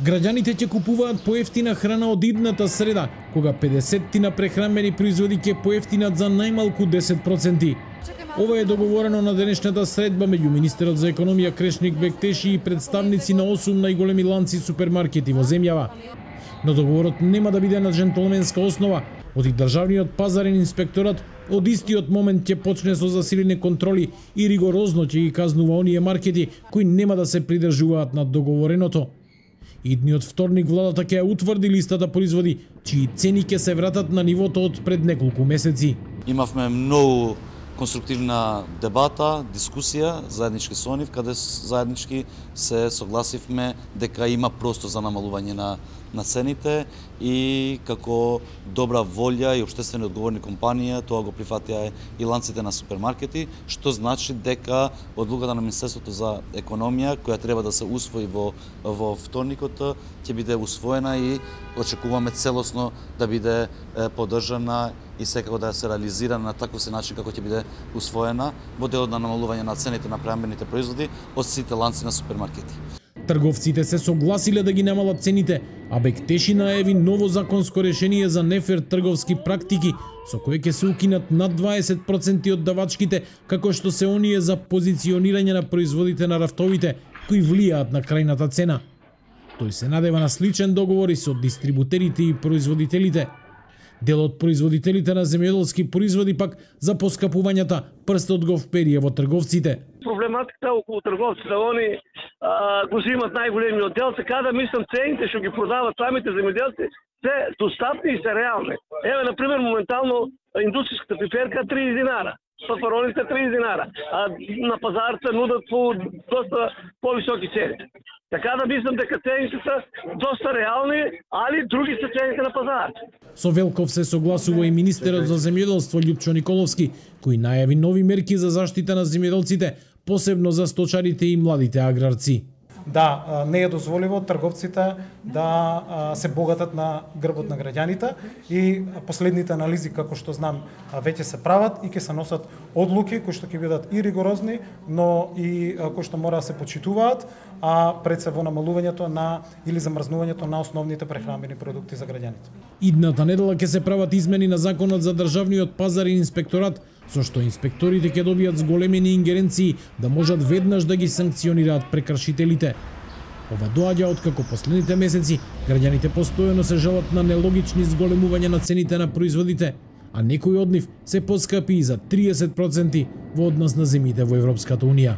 Граѓаните ќе купуваат поевтина храна од идната среда, кога 50 прехранбени производи ќе поевтинат за најмалку 10%. Ова е договорено на денешната средба меѓу министерот за економија Крешник Бектеши и представници на 8 најголеми ланци супермаркети во земјава. Но договорот нема да биде на джентлменска основа, оти државниот пазарен инспекторат од истиот момент ќе почне со засилени контроли и ригорозно ќе ги казнува оние маркети кои нема да се придржуваат на договореното. Идниот вторник владата ќе ја утврди листата производи, чии цени ќе се вратат на нивото од пред неколку месеци. Имавме многу конструктивна дебата, дискусија, заеднички со нив, каде заеднички се согласивме дека има простор за намалување на цените и како добра волја и општествено одговорни компанија тоа го прифатија и ланците на супермаркети, што значи дека одлуката на Министерството за економија, која треба да се усвои во вторникот, ќе биде усвоена и очекуваме целосно да биде поддржана и секако да се реализира на таков се начин како ќе биде усвоена во делот на намалување на цените на прехранбените производи од сите ланци на супермаркети. Трговците се согласиле да ги намалат цените, а Бектеши најави ново законско решение за нефер трговски практики, со кое ќе се укинат над 20% од давачките, како што се оние за позиционирање на производите на рафтовите, кои влијаат на крајната цена. Тој се надева на сличен договор и со дистрибутерите и производителите. Дел од производителите на земјоделски производи пак за поскапувањата прстот го вперија во трговците. Проблематиката околу трговците, они го земат најголемиот дел, така да мислам цените што ги продават самите земјоделци се достапни и се реални. Еве на пример моментално индустријската пиперка 30 динара, пафароните 30 динара, а на пазар се нудат по доста повисоки цени. Така да мислам дека цените се доста реални, али други се цените на пазар. Со Велков се согласува и министерот за земјоделство Љупчо Николовски, кој најави нови мерки за заштита на земјоделците, посебно за сточарите и младите аграрци. Да, не е дозволиво трговците да се богатат на грбот на граѓаните и последните анализи, како што знам, веќе се прават и ќе се носат одлуки кои што ќе бидат и ригорозни, но и кои што мора да се почитуваат, а пред се во намалувањето на или замрзнувањето на основните прехранбени продукти за граѓаните. Идната недела ќе се прават измени на законот за државниот пазар и инспекторат, со што инспекторите ќе добијат зголемени ингеренции да можат веднаш да ги санкционираат прекршителите. Ова доаѓа откако последните месеци граѓаните постојано се жалат на нелогични зголемувања на цените на производите, а некои од нив се поскапи и за 30% во однос на земјите во Европската унија.